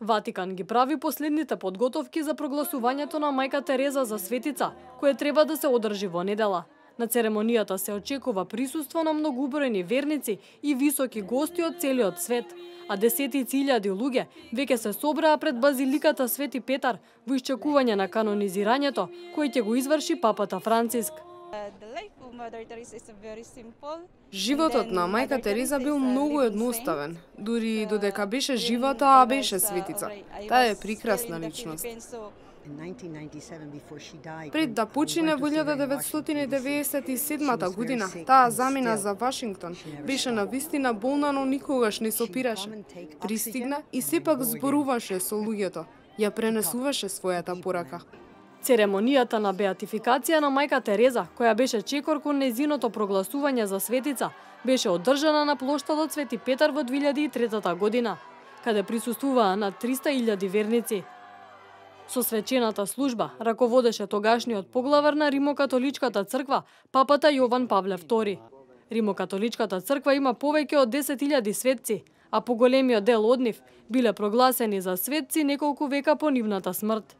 Ватикан ги прави последните подготовки за прогласувањето на мајка Тереза за светица, кое треба да се одржи во недела. На церемонијата се очекува присуство на многубројни верници и високи гости од целиот свет, а десетици илјади луѓе веќе се собраа пред базиликата Свети Петар во исчекување на канонизирањето кој ќе го изврши папата Франциск. Животот на мајка Тереза бил многу едноставен, дури додека беше жива, таа беше светица. Таа е прекрасна личност. Пред да почине во 1997 година, таа замина за Вашингтон. Беше навистина болна, но никогаш не се опираше. Пристигна и сепак зборуваше со луѓето. Ја пренесуваше својата порака. Церемонијата на беатификација на мајка Тереза, која беше чекор кон незиното прогласување за светица, беше одржана на плоштадот Свети Петар во 2003 година, каде присуствуваа над 300.000 верници. Со свечената служба раководеше тогашниот поглавар на Римокатоличката црква, папата Јован Павле II. Римокатоличката црква има повеќе од 10.000 светци, а поголемиот дел од нив биле прогласени за светци неколку века по нивната смрт.